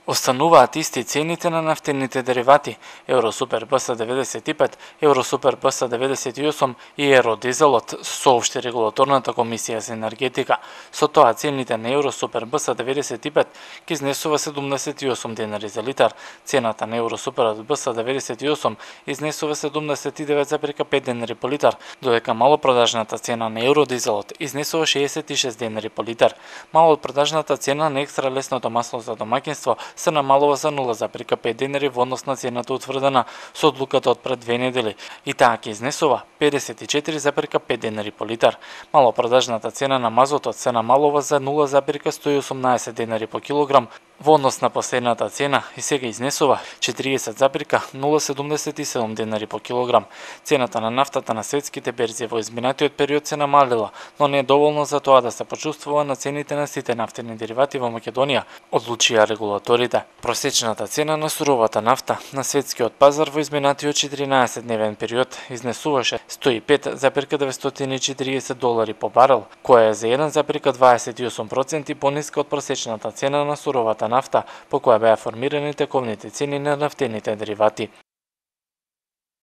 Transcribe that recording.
Остануваат исти цените на нафтените деривати Евросупер БС 95, Евросупер БС 98 и Евродизелот, соопшти регулаторната комисија за енергетика. Со тоа цените на Евросупер БС 95 ги изнесува 78 денари за литар, цената на Евросупер БС 98 изнесува 79,5 денари по литар, додека малопродажната цена на Евродизелот изнесува 66 денари по литар. Малопродажната цена на екстра лесното масло за домаќинство се намалува за 0,5 денари во однос на цената утврдена со одлуката од пред 2 недели и таа ќе изнесува 54,5 денари по литар. Малопродажната цена на мазотот се намалува за 0,118 денари по килограм во однос на последната цена и сега изнесува 40,077 денари по килограм. Цената на нафтата на светските берзи во изминатиот период се намалила, но не е доволно за тоа да се почувствува на цените на сите нафтени деривати во Македонија, одлучија регулаторите. Просечната цена на суровата нафта на светскиот пазар во изминатиот 14-дневен период изнесуваше $105,940 по барел, која е за 1,28% пониска од просечната цена на суровата нафта по која беа формирани тековните цени на нафтените деривати.